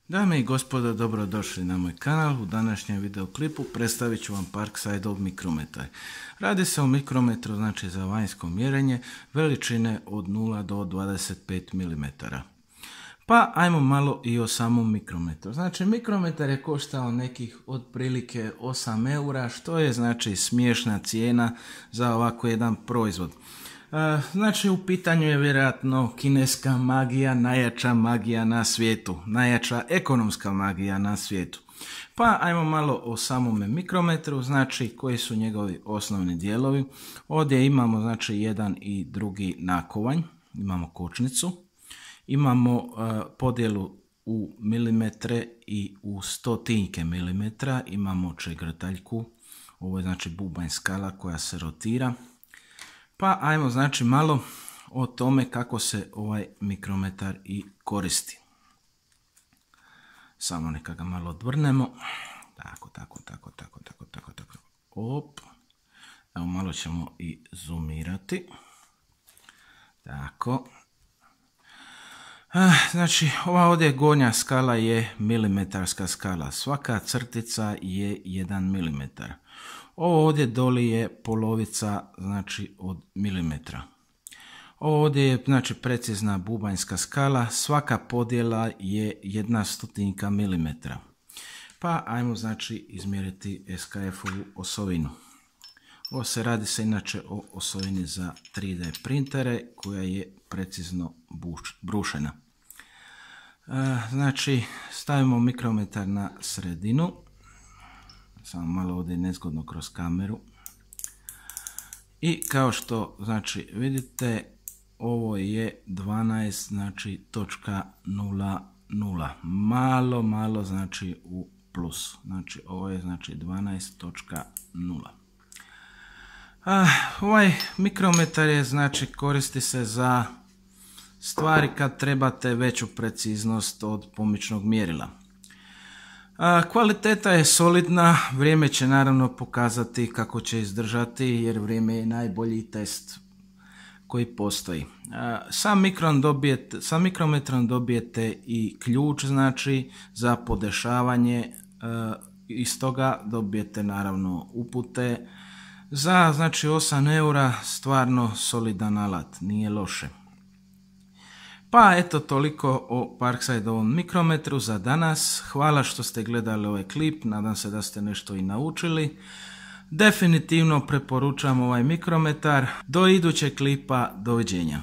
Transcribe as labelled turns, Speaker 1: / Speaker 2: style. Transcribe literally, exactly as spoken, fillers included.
Speaker 1: Dame i gospodo, dobrodošli na moj kanal. U današnjem videoklipu predstavit ću vam Parksideov mikrometar. Radi se o mikrometru, znači za vanjsko mjerenje veličine od nula do dvadeset pet milimetara. Pa ajmo malo i o samom mikrometru. Znači mikrometar je koštao nekih otprilike osam eura, što je znači smiješna cijena za ovako jedan proizvod. Znači u pitanju je vjerojatno kineska magija, najjača magija na svijetu, najjača ekonomska magija na svijetu. Pa ajmo malo o samome mikrometru, znači koji su njegovi osnovni dijelovi. Ovdje imamo znači jedan i drugi nakovanj, imamo kočnicu, imamo uh, podjelu u milimetre i u stotinke milimetra, imamo čegrtaljku, ovo je znači bubanj skala koja se rotira. Pa ajmo znači malo o tome kako se ovaj mikrometar i koristi. Samo neka ga malo odvrnemo. Tako, tako, tako, tako, tako, tako, tako. Op. Evo malo ćemo i zoomirati. Tako. Znači ova ovdje gornja skala je milimetarska skala. Svaka crtica je jedan milimetar. Ovo ovdje doli je polovica znači od milimetra. Ovo ovdje je znači precizna bubanjska skala, svaka podjela je jedna stotinka milimetra. Pa ajmo znači izmjeriti S K F-ovu osovinu. Ovo se radi se inače o osovini za tri D printere koja je precizno brušena. Znači stavimo mikrometar na sredinu. Samo malo ovdje nezgodno kroz kameru. I kao što znači vidite, ovo je dvanaest znači točka nula nula. Malo, malo znači u plusu. Znači ovo je znači dvanaest točka nula. Ovaj mikrometar je znači koristi se za stvari kad trebate veću preciznost od pomičnog mjerila. Kvaliteta je solidna, vrijeme će naravno pokazati kako će izdržati jer vrijeme je najbolji test koji postoji. Sam, mikron dobijete, sam mikrometrom dobijete i ključ znači za podešavanje, iz toga dobijete naravno upute. Za znači osam eura stvarno solidan alat, nije loše. Pa eto toliko o Parksideovom mikrometru za danas. Hvala što ste gledali ovaj klip, nadam se da ste nešto i naučili. Definitivno preporučam ovaj mikrometar. Do idućeg klipa, doviđenja.